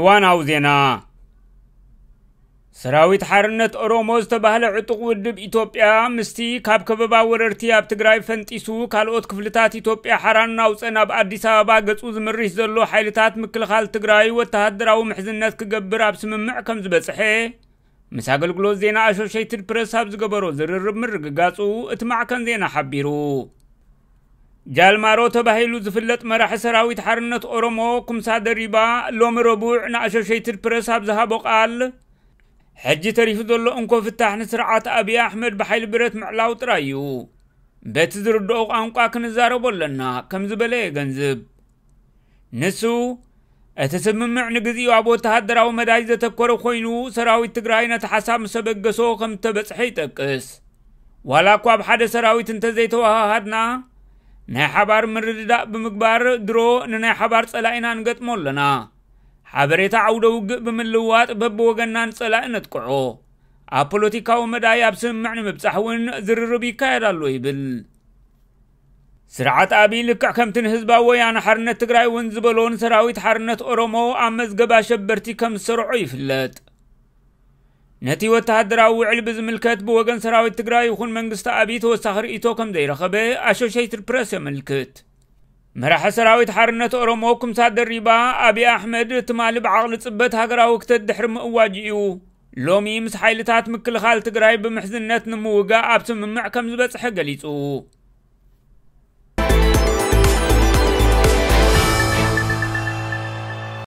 ዋናው ዜና። ሰራዊት ሓርነት ኦሮሞ ዝተባህለ ዕጡቕ ውድብ ኢትዮጵያ ምስቲ ካብ ከበባ ወረርቲ ኣብ ትግራይ ፈንጢሱ ካልኦት ክፍልታት ኢትዮጵያ ሓራ እናውፀ ናብ ኣዲስ ኣበባ ገፁ ዝምርሽ ዘሎ ሓይልታት ምክልኻል ትግራይ ወተሃደራዊ ምሕዝነት ክገብር ኣብ ስምምዕ ከም ዝበፅሐ ምስ ኣገልግሎት ዜና ኣሶሼይትድ ፕረስ ኣብ ዝገበሮ ዝርርብ ምርግጋፁ እቲ ማዕከን ዜና ሓቢሩ። ጃልማሮ ተባሂሉ ዝፍለጥ መራሒ ሰራዊት ሓርነት ኦሮሞ ኩምሳ ደሪባ ሎሚ ረቡዕ ንኣሶሼይትድ ፕረስ ኣብ ዝሃቦ ቃል፣ ሕጂ ተሪፉ ዘሎ እንኮ ፍታሕ ንስርዓት ኣብይ ኣሕመድ ብሓይሊ ብረት ምዕላው ጥራይ እዩ። በቲ ዝርድኦ ቋንቋ ክንዛረቦ ኣለና ከም ዝበለ የገንዝብ። ንሱ፣ እቲ ስምምዕ ንግዚኡ ኣብ ወተሃደራዊ መዳይ ዘተኮረ ኮይኑ፣ ሰራዊት ትግራይ ነቲ ሓሳብ ምስ ኣበገሶ ከም እተበጽሐ ይጠቅስ። ዋላ እኳ ኣብ ሓደ ሰራዊት እንተዘይተወሃሃድና፣ ናይ ሓባር ምርድዳእ ብምግባር ድሮ ንናይ ሓባር ጸላኢና ንገጥሞ ኣለና። ሓበሬታ ዓውደ ውግእ ብምልውዋጥ በብወገንና ንጸላኢ ነጥቅዖ። ኣብ ፖለቲካዊ መዳይ ኣብ ስምምዕ ንምብጻሕ እውን ዝርርብ ይካየድ ኣሎ ይብል። ስርዓት ኣብይ ልክዕ ከምቲ ንህዝባዊ ወያነ ሓርነት ትግራይ እውን ዝበሎ ንሰራዊት ሓርነት ኦሮሞ ኣብ መዝገብ ኣሸበርቲ ከም ዝሰርዖ ይፍለጥ። ነቲ ወተሃደራዊ ውዕል ብዝምልከት ብወገን ሰራዊት ትግራይ ይኹን መንግስቲ ኣብይ ተወሳኺ ርእይቶ ከም ዘይረኸበ ኣሶሼይትድ ፕረስ የመልክት። መራሒ ሰራዊት ሓርነት ኦሮሞ ኩምሳ ደሪባ ኣብይ ኣሕመድ ትማሊ ብዓቕሊ ጽበት ሃገራዊ ክተት ድሕሪ ምእዋጅ እዩ ሎሚ ምስ ሓይልታት ምክልኻል ትግራይ ብምሕዝነት ንምውጋእ ኣብ ስምምዕ ከም ዝበጽሐ ገሊጹ።